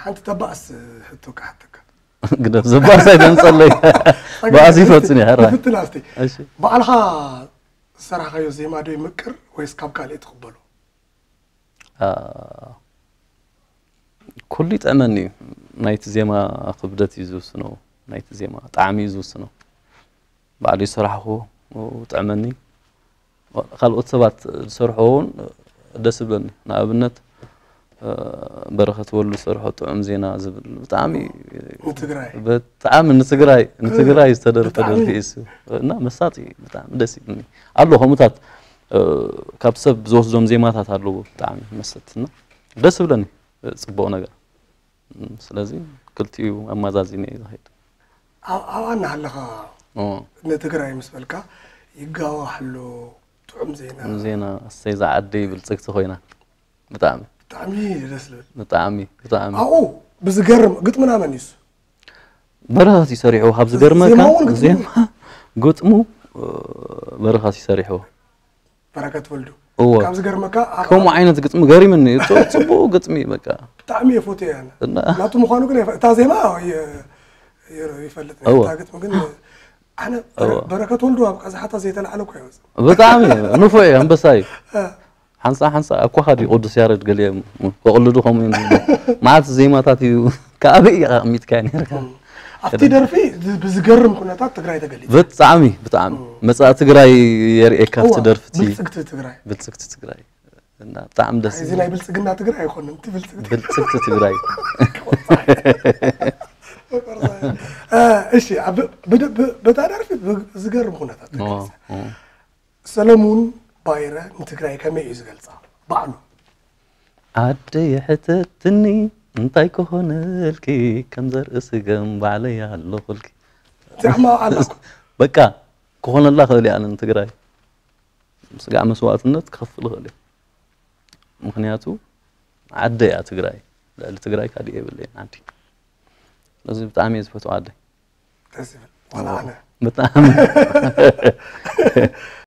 ሓንቲ ተባእስ ሕቶ ክሓተካ። ግደፍ፣ ዘባእስ ኣይተምፀለይ። ባእስ ይፈፅን እየ ሕራይ። ፍትን ኣስቲ እሺ። ባዕልኻ ዝሰራሕካዮ ዜማ ዶ ይምቅር ወይስ ካብ ካልእ ትቕበሎ? አ፣ ኩሉ ይጥዕመኒ እዩ። ናይቲ ዜማ ክብደት እዩ ዝውስኖ፣ ናይቲ ዜማ ጣዕሚ እዩ ዝውስኖ። ባዕሉ ይሰራሕኹ ጥዕመኒ። ካልኦት ሰባት ዝሰርሕዎ እውን ደስ ይብለኒ። ንኣብነት በረኸት ወሉ ዝሰርሖ ጥዑም ዜና ዝብል ብጣዕሚ ንትግራይ ብጣዕሚ ንትግራይ ንትግራይ ዝተደርፈ ብጣዕሚ። ደርፊ እዩ እሱ። እና መሳጢ እዩ፣ ብጣዕሚ ደስ ይብልኒ ኣሎ። ከምኡታት ካብ ሰብ ዝወስዶም ዜማታት ኣለዎ ብጣዕሚ መሰጥትና ደስ ይብለኒ። ፅቡቕ ነገር። ስለዚ ክልቲኡ ኣማዛዚነ እዩ ዝኸይድ። ኣብ ኣብኣ እናሃለኻ ኦ፣ ንትግራይ ምስ በልካ ይጋዋሕ ኣሎ ጥዑም ዜና ዜና እሰይ ዝዓደይ ብልፅግቲ ኮይና ብጣዕሚ ብጣዕሚ ደስ ዝብል ብጣዕሚ ብጣዕሚ ኣብኡ ብዝገርም ግጥምና መን እዩ እሱ? በረኸት ይሰሪሕዎ ካብ ዝገርመካ ዜማውን ግጥሙ? ዜማ ግጥሙ እ፣ በረኸት ይሰሪሕዎ በረከት ወልዱ እዎ ካብ ዝገርመካ ኣብ- ከምኡ ዓይነት ግጥሚ ገሪምኒ እዩ። ጽ- ጽቡቕ ግጥሚ እዩ በቃ ብጣዕሚ እየ ፎትዮ ያነ እና ናቱ ምዃኑ ግን ይፈ- እታ ዜማ የ- የ- ይፈልጥ እዎ። እታ ግጥሚ ግን ኣነ እዎ። በረከት ወልዱ ኣብ ቀዝሓታ ዘይተላዕለ እኮ ይወፅ ብጣዕሚ ንፉዕ እዩ ኣንበሳ እዩ። እ። ሓንሳ ሓንሳ ኣኳኻ ድዩ ቅዱስ ያረድ ገሊኦም ከቕልዱ ከምኡ እዮም ዝብሉ። መዓት ዜማታት እዩ ከኣበይ ኢኻ ኣቕሚጥካዮ ነርካ። ኣብቲ ደርፊ ዝ- ብዝገርም ኩነታት ትግራይ ተገሊፁ ብጣዕሚ ብጣዕሚ መጻኢ ትግራይ የርእየካ ኣብቲ እዋ፣ ደርፍቲ ብልፅግቲ ትግራይ ብልጽግቲ ትግራይ እና ብጣዕሚ ደስ እዚ ናይ ብልፅግና ትግራይ ኣይኮነን እቲ ብልፅግቲ ብልጽግቲ ትግራይ እ፣ እሺ ኣብ- ብድ- ብ- በታ ደርፊ ብ- ዝገርም ኩነታት ኦ፣ ተገሊፃ ኦ። ሰለሙን ባይረ ንትግራይ ከመይ እዩ ዝገልፃ ባዕሉ ኣደይ ሕተትኒ እንታይ ክኾነልኪ ከም ዘርኢ ስገም ባዕለይ ኣለኹልኪ እዚኣማ ኣላኩ በቃ ክኾነላ ክእል እየ ኣነ ንትግራይ ስጋዕ መስዋእትነት ክኸፍል እኽእል እየ ምክንያቱ ዓደ እያ ትግራይ ልዕሊ ትግራይ ካሊእ የብለይን ዓዲ ስለዚ ብጣዕሚ እየ ዝፈትው ዓደይ ደስ ይብል ዋላ ኣነ ብጣዕሚ